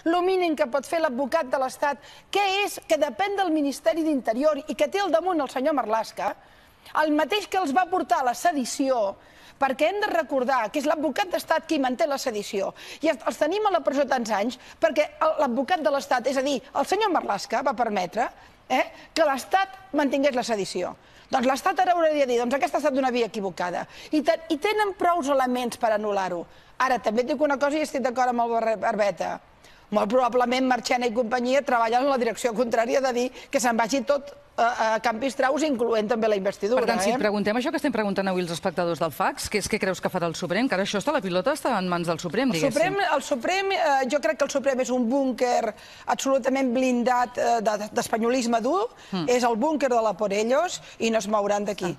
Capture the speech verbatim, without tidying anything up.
el mínim que pot fer l'advocat de l'Estat, que és que depèn del Ministeri d'Interior i que té al damunt el senyor Marlaska, el mateix que els va portar a la sedició, perquè hem de recordar que és l'advocat d'Estat qui manté la sedició i els tenim a la presó tants anys perquè l'advocat de l'Estat, és a dir, el senyor Marlaska va permetre que l'Estat mantingués la sedició. Doncs l'Estat ara hauria de dir, doncs aquesta ha estat una via equivocada i tenen prou elements per anul·lar-ho. Ara, també et dic una cosa i estic d'acord amb el Barbeta. Molt probablement Marchena i companyia treballen en la direcció contrària de dir que se'n vagi tot a Campis Traus, incloent també la investidura. Per tant, si et preguntem això que estem preguntant avui els espectadors del Fax, què és que creus que farà el Suprem? Que ara això està, la pilota està en mans del Suprem, diguéssim. El Suprem, jo crec que el Suprem és un búnquer absolutament blindat d'espanyolisme dur, és el búnquer de la por ellos i no es mouran d'aquí.